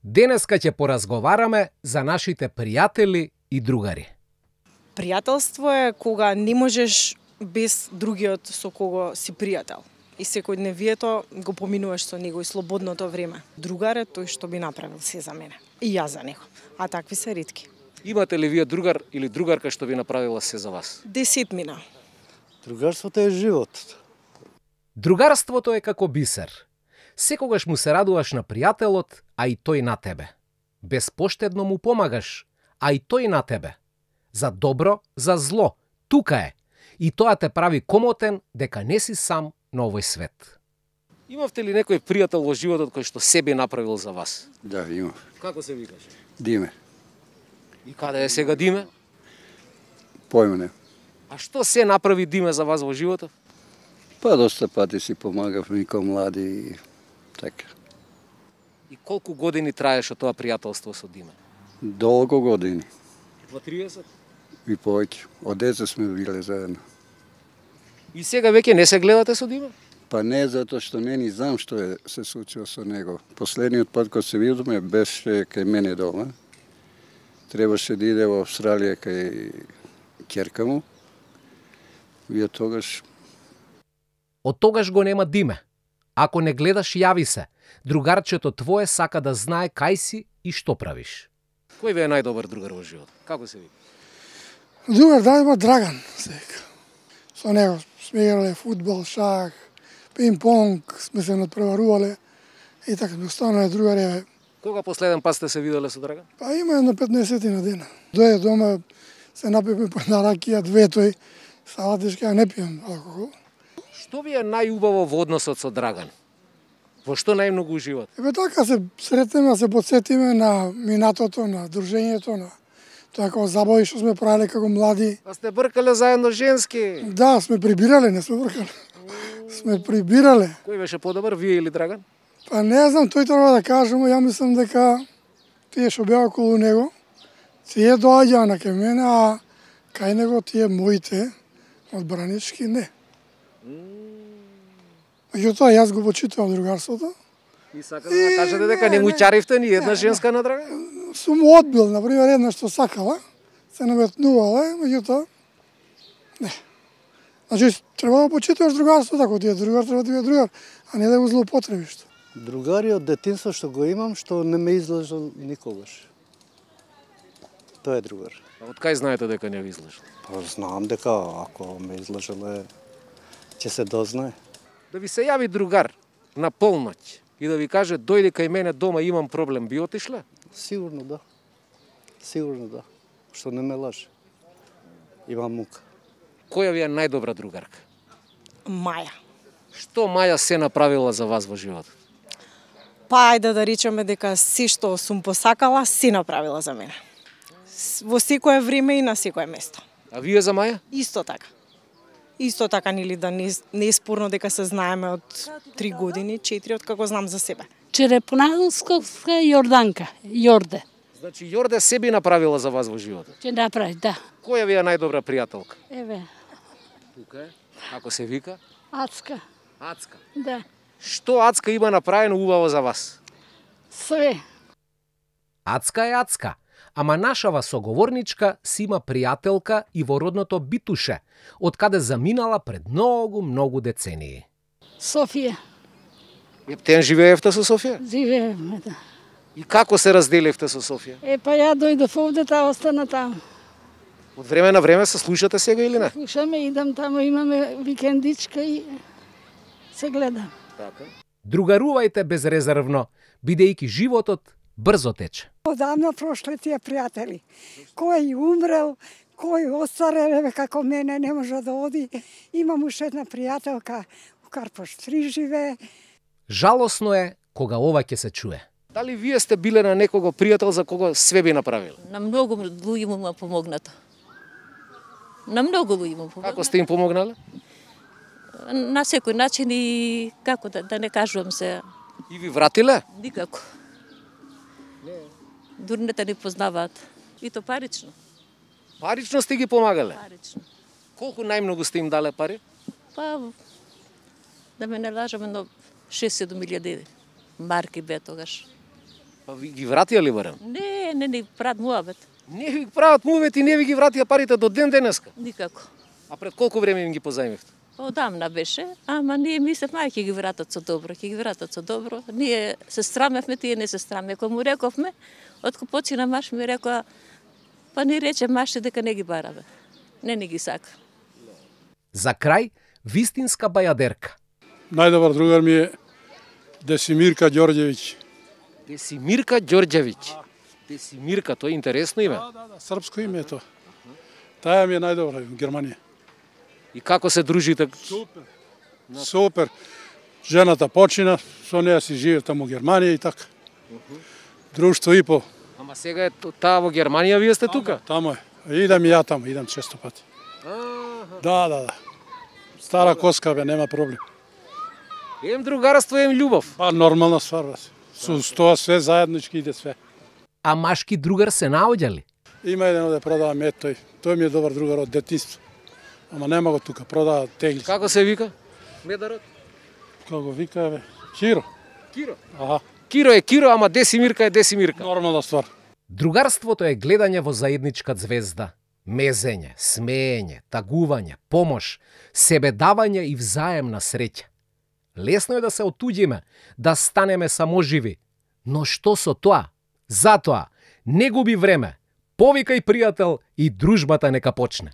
Денеска ќе поразговараме за нашите пријатели и другари. Пријателство е кога не можеш без другиот со кого си пријател. И секојдневието го поминуваш со него и слободното време. Другар е тој што би направил се за мене. И јас за него. А такви се ретки. Имате ли вие другар или другарка што ви направила се за вас? 10 мина. Другарството е живот. Другарството е како бисер. Секогаш му се радуваш на пријателот, а и тој на тебе. Безпоштедно му помагаш, а и тој на тебе. За добро, за зло. Тука е. И тоа те прави комотен дека не си сам на овој свет. Имавте ли некој пријател во животот кој што себе направил за вас? Да, имав. Како се викаш? Диме. И каде е сега Диме? Појма не. А што се направи Диме за вас во животот? Па доста пати си помагав ми ко млади и така. И колку години траеше тоа пријателство со Диме? Долго години. Во 30? И повеќе. Од деца сме биле заедно. И сега веќе не се гледате со Диме? Па не затоа што не ни знам што е се случило со него. Последниот пат кога се видовме беше кај мене дома. Требаше да иде во Австралија кај ќерка му. И од тогаш... Од тогаш го нема Диме. Ако не гледаш, јави се. Другарчето твое сака да знае кај си и што правиш. Кој ви е најдобар другар во живот? Како се вика? Другар да има Драган, се вика. Со него сме играле фудбал, шах, пинг-понг, сме се надпреварувале и така ми останале другари. Кога последен пат сте се виделе со Драган? Па има едно 15 на дена. Дојде дома, се напивме по една ракија, две тој, салатишки, а не пијам алкохол. Што ви е најубаво во односот со Драган? Во што најмногу уживате? Ебе така се сретнеме, се подсетиме на минатото, на дружењето, на тоа како забави што сме правеле како млади. А сте бркале заедно женски? Да, сме прибирале, не сме бркале. Сме прибирале. Кој беше подобар, вие или Драган? Па не знам, тој треба да кажемо, ја мислам дека тие што беа околу него, тие доаѓаа на кај мене, а кај него тие моите одбранички не. Меѓутоа, јас го почитувам другарството. И сакате да кажете дека не му чаривте ни една женска на Драган? Сум одбил, например, една што сакала, се наметнувала, меѓутоа, не. Значи, треба да почитуваш другарството, ако ти е другар, треба да ти е другар, а не да го злоупотребиш. Другари од детинство што го имам, што не ме излажал никогаш. Тоа е другар. А од кај знаете дека не ви излажал? Па знам дека ако ме излажале, ќе се дознае. Да ви се јави другар на полноќ и да ви каже дојди кај мене дома имам проблем, би отишле? Сигурно да. Сигурно да. Што не ме лаже. Имам мука. Која ви е најдобра другарка? Маја. Што Маја се направила за вас во животот? Па ајде да речеме дека се што сум посакала, се направила за мене. Во секое време и на секое место. А вие за Маја? Исто така. Исто така, нели да не е спорно дека се знаеме од 3 години, 4 од како знам за себе. Черепонадолсковска Јорданка, Јорде. Значи Јорде се би направила за вас во животот? Ќе направи, да. Која ви е најдобра пријателка? Еве, Тука е. Како се вика? Ацка, Ацка. да. Што Ацка има направено убаво за вас? Све. Ацка е Ацка, ама нашава соговорничка си има пријателка и во родното Битуше, од каде заминала пред многу децении. Софија, Ептен живеевте со Софија? живееме, да. И како се разделивте со Софија? Па ја дојдов овде, таа остана таму. Од време на време се слушате сега или не? Слушаме, идам таму, имаме викендичка и се гледам. Така. Другарувајте безрезервно, бидејќи животот брзо тече. Одамна прошле тие пријатели. Кој умрел, кој остарел, како мене не може да оди. Имам уште една пријателка, у Карпош 3 живее. Жалосно е кога ова ќе се чуе. Дали вие сте биле на некого пријател за кого све би направил? На многу луѓе му помогнато. На многу луѓе му помогнато. Како сте им помогнале? На секој начин и како да не кажувам се. И ви вратиле? Никако. Дури не те ни познаваат. И то парично. Парично сте ги помагале? Парично. Колку најмногу сте им дале пари? Па, да ме не лажаме, но 6-7 илјади марки бе тогаш. Па ви ги вратија ли барем? Не ни прават муабет. Не ви прават мувет и не ви ги вратија парите до ден денеска. Никако. А пред колку време им ги позајмивте? Одамна беше, ама ние мислевме ќе ги вратат со добро, ќе ги вратат со добро. Ние се страмевме, тие не се страмеа. Кога му рековме, откако почина маш ми рекоа, па ни рече маште дека не ги бараме. Не ни ги сака. За крај, вистинска бајадерка. Најдобар другар ми е Десимирка Ѓорѓевиќ. Десимирка Ѓорѓевиќ. Десимирка, тоа е интересно име. Да, српско име е тоа. Таја ми е најдобра во Германија. И како се дружите? Супер. Жената почина, со неја си живе таму во Германија и така. Друштво и по. Ама сега е таа во Германија, вие сте тука? Тамо е. Идам и ја таму, идам често пати. Да. Стара коска бе, нема проблем. Ем другарство, ем љубов. Па нормална ствар, бе. Со тоа све заеднички иде све. А машки другар се наоѓа ли? Има еден оде продава мед тој. Тој ми е добар другар од детинство. Ама нема го тука, продава тегли. Како се вика? Медарот? Како го вика бе? Киро. Киро. Аха. Киро е Киро, ама Десимирка е Десимирка. Нормална ствар. Другарството е гледање во заедничка звезда, мезење, смеење, тагување, помош, себедавање и взаемна среќа. Лесно е да се отуѓиме, да станеме саможиви, но што со тоа? Затоа, не губи време, повикај пријател и дружбата нека почне.